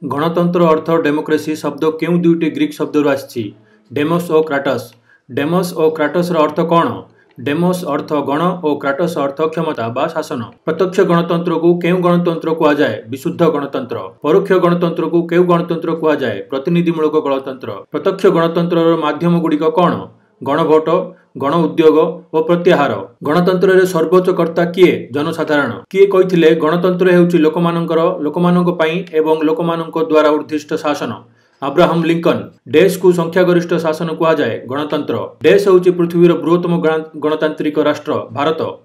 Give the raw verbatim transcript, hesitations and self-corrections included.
ଗଣତନ୍ତ୍ର ଅର୍ଥ ଡେମୋକ୍ରେସି ଶବ୍ଦ କେଉଁ ଦୁଇଟି ଗ୍ରୀକ୍ ଶବ୍ଦରୁ ଆସିଛି? ଡେମୋସ୍ ଓ କ୍ରାଟସ୍। ଡେମୋସ୍ ଓ କ୍ରାଟସ୍ର ଅର୍ଥ କ'ଣ? ଡେମୋସ୍ ଅର୍ଥ ଗଣ ଓ କ୍ରାଟସ୍ ଅର୍ଥ କ୍ଷମତା ବା ଶାସନ। ପ୍ରତ୍ୟକ୍ଷ ଗଣତନ୍ତ୍ରକୁ କେଉଁ ଗଣତନ୍ତ୍ର କୁହାଯାଏ? ବିଶୁଦ୍ଧ ଗଣତନ୍ତ୍ର। ପରୋକ୍ଷ ଗଣତନ୍ତ୍ରକୁ କେଉଁ ଗଣତନ୍ତ୍ର କୁହାଯାଏ? ପ୍ରତିନିଧିମୂଳକ ଗଣତନ୍ତ୍ର। ପ୍ରତ୍ୟକ୍ଷ ଗଣତନ୍ତ୍ରର ମାଧ୍ୟମଗୁଡ଼ିକ କ'ଣ? ଗଣଭୋଟ, ଗଣ ଉଦ୍ୟୋଗ ଓ ପ୍ରତ୍ୟାହାର। ଗଣତନ୍ତ୍ରରେ ସର୍ବୋଚ୍ଚ କର୍ତ୍ତା କିଏ? ଜନସାଧାରଣ। କିଏ କହିଥିଲେ ଗଣତନ୍ତ୍ର ହେଉଛି ଲୋକମାନଙ୍କର, ଲୋକମାନଙ୍କ ପାଇଁ ଏବଂ ଲୋକମାନଙ୍କ ଦ୍ୱାରା ଉଦ୍ଦିଷ୍ଟ ଶାସନ? Abraham Lincoln. ଡେସ୍କୁ ସଂଖ୍ୟାଗରିଷ୍ଠ ଶାସନ କୁହାଯାଏ? ଗଣତନ୍ତ୍ର। ଡେସ୍ ହେଉଛି ପୃଥିବୀର ବୃହତ୍ତମ ଗଣତାନ୍ତ୍ରିକ ରାଷ୍ଟ୍ର? ଭାରତ।